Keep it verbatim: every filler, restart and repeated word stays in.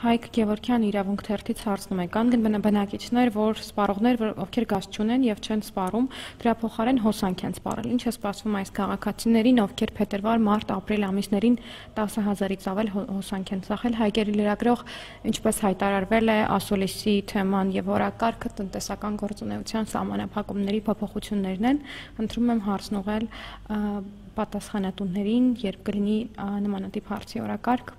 Հայկ Գևորգյան իրավունք թերթից հարցնում է. կան բնակիչներ, որ սպառողներ, ովքեր գազ չունեն եւ չեն սպառում, դրա փոխարեն հոսանք են սպառել։ Ինչ է սպասվում այս քաղաքացիներին, ովքեր փետրվար, մարտ, ապրիլ ամիսներին տասը հազարից ավել հոսանք են ծախել։ Հայկերի լրագրող ինչպես հայտարարվել է ասոլիսի թեման եւ օրակարգը տնտեսական գործունեության սահմանափակումների փոփոխություններն են։ Ընտրում եմ հարցն ուղղել պատասխանատուներին, երբ կլինի նմանատիպ հարցի օրակարգ։